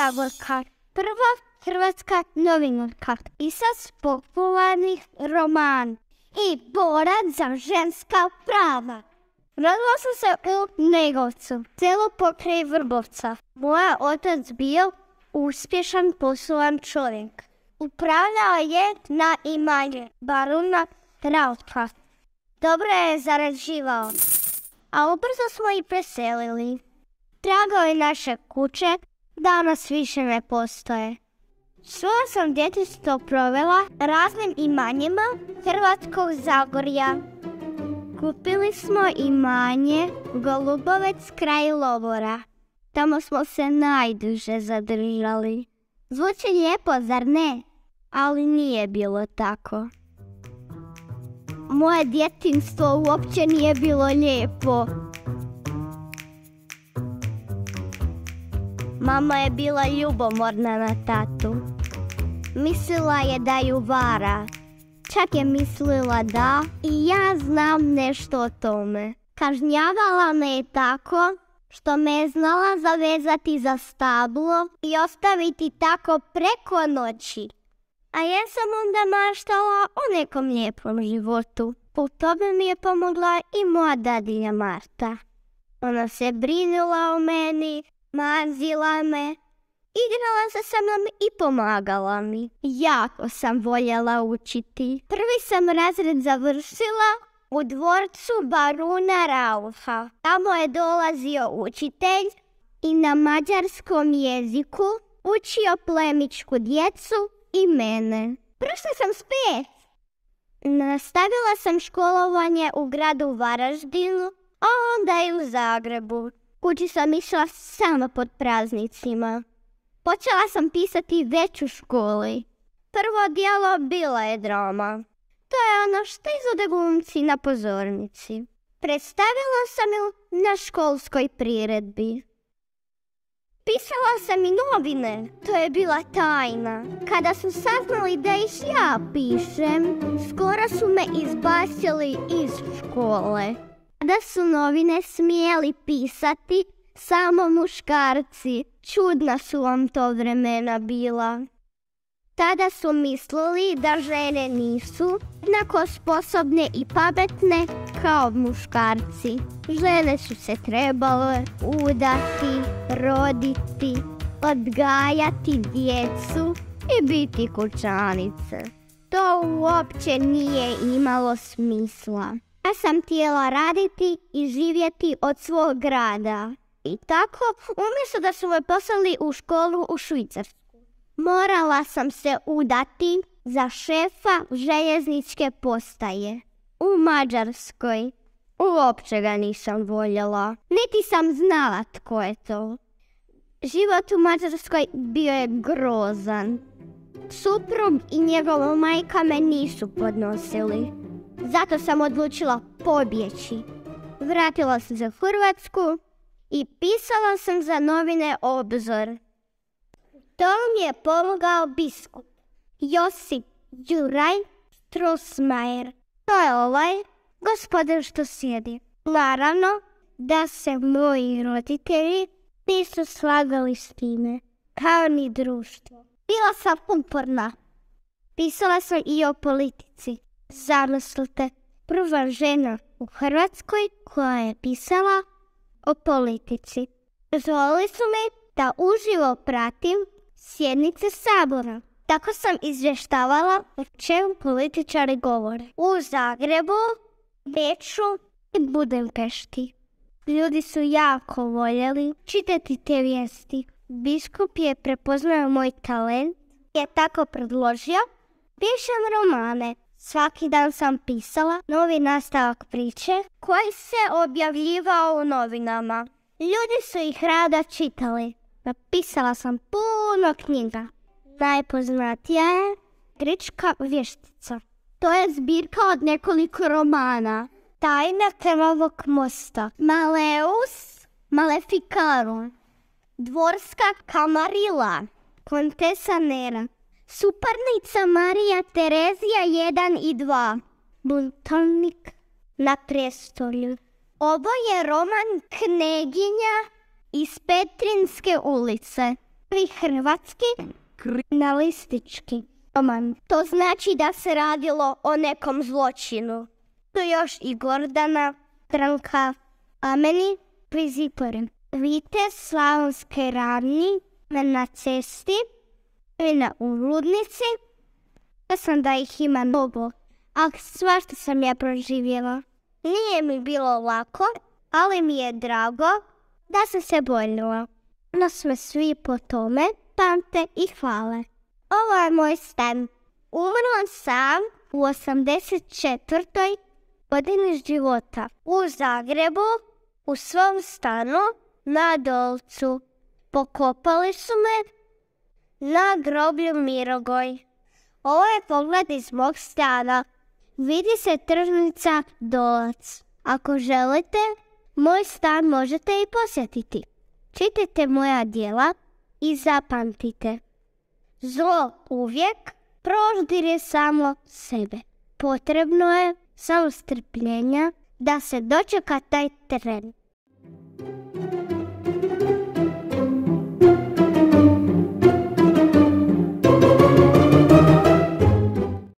Zagorka, prva hrvatska novinarka, pisac popularnih romana i borac za ženska prava. Rodila sam se u Negovcu, selo pokraj Vrbovca. Moj otac bio uspješan poslovan čovjek. Upravljao je na imanje baruna Rautka. Dobro je zarađivao, a ubrzo smo i preselili. Tragovi naše kuće danas više ne postoje. Svoje sam djetinjstvo provela raznim imanjima Hrvatskog Zagorja. Kupili smo imanje Golubovec kraj Lovora. Tamo smo se najduže zadržali. Zvuči lijepo, zar ne? Ali nije bilo tako. Moje djetinjstvo uopće nije bilo lijepo. Mama je bila ljubomorna na tatu. Mislila je da ju vara. Čak je mislila da i ja znam nešto o tome. Kažnjavala me je tako što me je znala zavezati za stablo i ostaviti tako preko noći. A ja sam onda maštala o nekom lijepom životu. U tome mi je pomogla i moja dadilja Marta. Ona se brinula o meni, mazila me, igrala se sa mnom i pomagala mi. Jako sam voljela učiti. Prvi sam razred završila u dvorcu baruna Rauha. Tamo je dolazio učitelj i na mađarskom jeziku učio plemićku djecu i mene. Prošla sam s 5. Nastavila sam školovanje u gradu Varaždinu, a onda i u Zagrebu. Kući sam išla samo pod praznicima. Počela sam pisati već u školi. Prvo djelo bila je drama. To je ono što izvode glumci na pozornici. Predstavila sam ju na školskoj priredbi. Pisala sam i novine, to je bila tajna. Kada su saznali da ih ja pišem, skoro su me izbacili iz škole. Da su novine smjeli pisati samo muškarci, čudna su vam to vremena bila. Tada su mislili da žene nisu jednako sposobne i pametne kao muškarci. Žene su se trebale udati, roditi, odgajati djecu i biti kućanice. To uopće nije imalo smisla. Ja sam htjela raditi i živjeti od svog grada. I tako, umjesto da su me poslali u školu u Švicarsku, morala sam se udati za šefa željezničke postaje u Mađarskoj. Uopće ga nisam voljela, niti sam znala tko je to. Život u Mađarskoj bio je grozan. Suprug i njegova majka me nisu podnosili. Zato sam odlučila pobjeći. Vratila sam se u Hrvatsku i pisala sam za novine Obzor. To mi je pomogao biskup Josip Juraj Strossmayer. To je ovaj gospodin što sjedi. Naravno da se moji roditelji nisu slagali s time, kao ni društvo. Bila sam uporna. Pisala sam i o politici. Zamislite, prva žena u Hrvatskoj koja je pisala o politici. Dozvolili su mi da uživo pratim sjednice Sabora. Tako sam izvještavala o čemu političari govore. U Zagrebu, Beču i Budimpešti. Ljudi su jako voljeli čitati te vijesti. Biskup je prepoznao moj talent i je tako predložio pišem romane. Svaki dan sam pisala novi nastavak priče koji se objavljivao u novinama. Ljudi su ih rado čitali. Napisala sam puno knjiga. Najpoznatija je Grčka vještica. To je zbirka od nekoliko romana. Tajna krvavog mosta, Maleus Maleficarum, Dvorska kamarila, Kontesa Nera, Suparnica Marija Terezija 1 i 2, Buntovnik na prijestolju. Ovo je roman Kneginja iz Petrinske ulice. hrvatski kriminalistički roman. To znači da se radilo o nekom zločinu. Tu još i Gordana, Stranka, a meni priziporem. Vidite slavonske ravni na cesti i na uludnici. Ja sam da ih ima mnogo, a svašta sam ja proživjela. Nije mi bilo lako, ali mi je drago da sam se borila. No sve svi po tome pamte i hvale. Ovo je moj stan. Umrla sam u 84. godini života u Zagrebu, u svom stanu na Dolcu. Pokopali su me na groblju Mirogoj. Ovo je pogled iz mog stana. Vidi se tržnica Dolac. Ako želite, moj stan možete i posjetiti. Čitajte moja djela i zapamtite. Zlo uvijek proždire samo sebe. Potrebno je samo strpljenja da se dočeka taj tren.